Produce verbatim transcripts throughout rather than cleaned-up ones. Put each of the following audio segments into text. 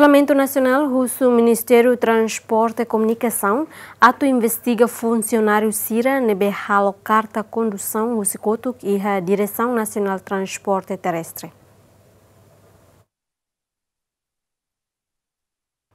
Parlamentu Nasionál husu Ministériu Transporte e Komunikasaun atu investiga funsionáriu sira ne'ebé halo karta kondusaun husi kotuk iha Diresaun Nasionál Transporte Terrestre.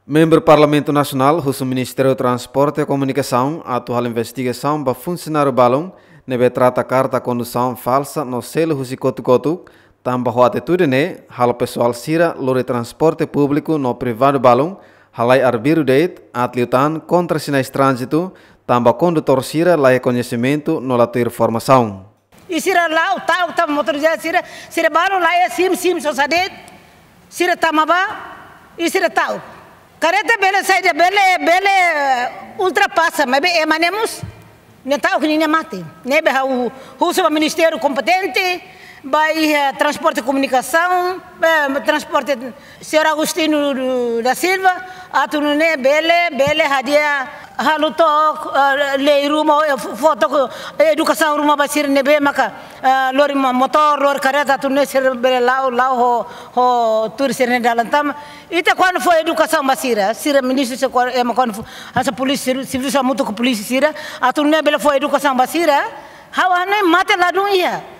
Membru Parlamentu Nasionál husu Ministériu Transporte e Komunikasaun atu halo investigasaun ba funsionáriu balun ne'ebé trata karta kondusaun falsa no selu husi kotuk-kotuk, tanba ho atitude ne'e halo pesoál sira lori transporte públiku no privadu balun halai arbiru de'it, aat liután kontra sinais tránzitu, tanba kondutór sira la iha koñesimentu no la tuir formasaun. I sira la'o ta'uk tama motorizadu sira, sira balun la iha SIM, SIM sosa de'it, sira tama bá, i sira ta'uk. Karreta bele saida, bele, bele ultrapasa, maibé ema ne'e mós, ne'e ta'uk ninia mate. Ne'ebé ha'u husu ba ministériu kompetente, ba iha transporte komunikasaun, eh, transporte, señór Agostinho do, da Silva, atu nune'e bele, bele hadi'a halo took, eh, lei ruma, eh, fó took, eh, edukasaun ruma ba sira ne'ebé maka, eh, lori mo-, motór, lori karreta, atu nune'e sira bele la'o, la'o ho, ho tuur sira-nia dalan tama. Ita kuandu fó edukasaun ba sira, sira ministru sira kuandu, ema kuandu fó, hanesan polísia, servisu hamutuk ho polísia sira, atu nune'e bele fó edukasaun ba sira, ha'u hanoin mate ladún iha.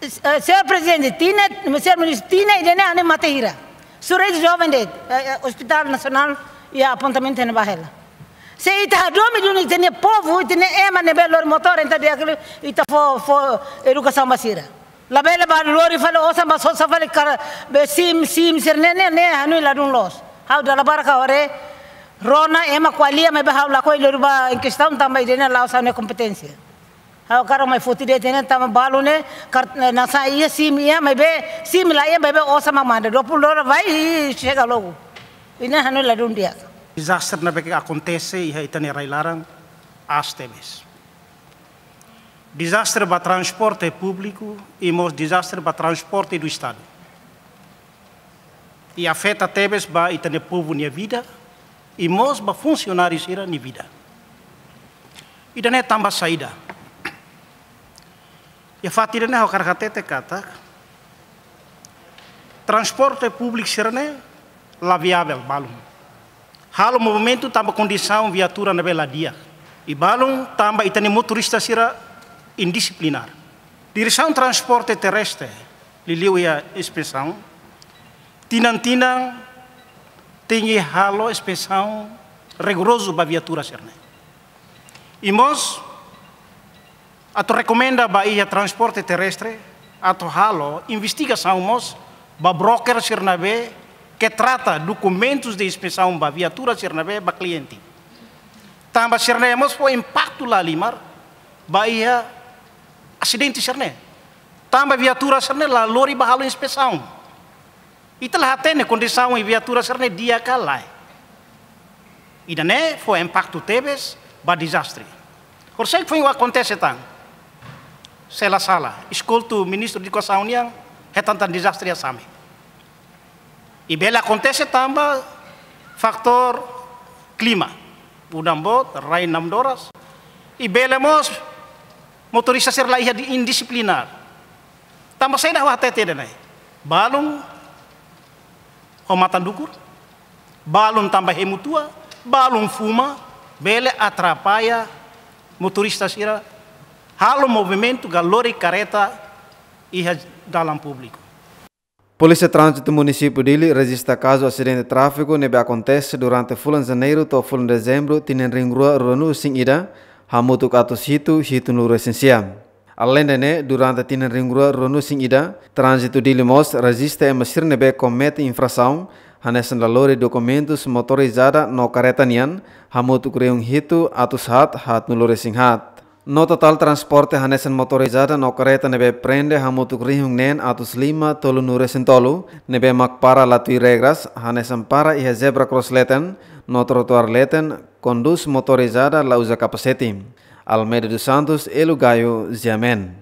Eh, señór Prezidente, tinan, señór Ministru, tinan ida-ne'e hanoin mate hira. Sura ida joven de'it, eh, eh, Hospital Nasionál iha apontamentu ne'ebá hela. Se ita hadomi duni ita-nia povu, ita-nia ema ne'ebé lori motór, entaun di'ak liu ita fó, fó edukasaun ba sira. Labele bá lori fali osan bá sosa fali kar-, be SIM, SIM sira-ne'e, ne'e, ne'e hanoin ladún loos. Ha'u dala barak ha'u haree, rona ema ko'alia maibé ha'u lakohi lori bá em questão tanba ida-ne'e la'ós ha'u-nia kompeténsia. Ha'u hakarak mai foti de'it ne'e tanba balun ne'e, kar-, ne'e, nasaun iha SIM iha, maibé SIM la iha, maibé osan mak manda dua puluh dolar vai i xega logu. I ne'e hanoin ladún di'ak. Dezastre ne'ebé ke akontese iha ita-nia rai-laran aas tebes. Dezastre ba transporte públiku i mós dezastre ba transporte do Estadu. I afeta tebes ba ita-nia povu nia vida, i mós ba funsionáriu sira-nia vida. Ida-ne'e tanba saida? Iha fatin ida-ne'e ha'u hakarak hatete katak transporte públiku sira-ne'e la viavel balun. Halo movimentu tanba kondisaun viatura ne'ebé la di'ak. I balun tanba ita-nia motorista sira indisiplinár. Diresaun Transporte Terrestre, liuliu iha inspesaun, tinan-tinan tenke halo inspesaun rigorozu ba viatura sira-ne'e. I mós, atu rekomenda ba iha Transporte Terrestre, atu halo investigasaun mós ba broker sira ne'ebé ke trata dokumentus de inspesaun ba viatura sira ne'ebé ba kliente. Tanba sira-ne'e mós fó impaktu lahalimar ba iha asidente sira-ne'e. Tanba viatura sira-ne'e la lori bá halo inspesaun. Ita la hatene kondisaun iha viatura sira-ne'e di'ak ka lae. Ida-ne'e fó impaktu tebes ba dezastre. Horiseik foin akontese tan. Se la sala, eskoltu Ministru Edukasaun nian hetan tan dezastre iha Same. I bele akontese tanba fatór klima. Udan boot, rai namdoras. I bele mós motorista sira la iha di-, indisiplinár. Tanba saida ha'u hatete ida-ne'e? Balun ho matan dukur, balun tanba hemu tua, balun fuma, bele atrapalla motorista sira halo movimentu ka lori karreta iha dalan públiku. Polísia Tránzitu Munisípiu Dili rejista kazu asidente tráfiku ne'ebé akontese durante fulan Janeiru to'o fulan Dezembru tinan rihun rua ruanulu-resin-ida, hamutuk atus hitu hitunulu-resin-sia. Aleinde ne'e, durante tinan rihun rua ruanulu-resin-ida, Tránzitu Dili mós rejista ema sira ne'ebé komete infrasaun hanesan la lori dokumentus motorizada no karreta nian, hamutuk rihun hitu atus haat haatnulu-resin-haat. No totál transporte hanesan motorizada no karreta ne'ebé prende hamutuk rihun neen atus lima tolunulu-resin-tolu, ne'ebé mak para la tuir regras, hanesan para iha zebra cross leten no trotoar leten, kondús motorizada la uza kapasete. Almeida dos Santos, Elo Gayo, G M N.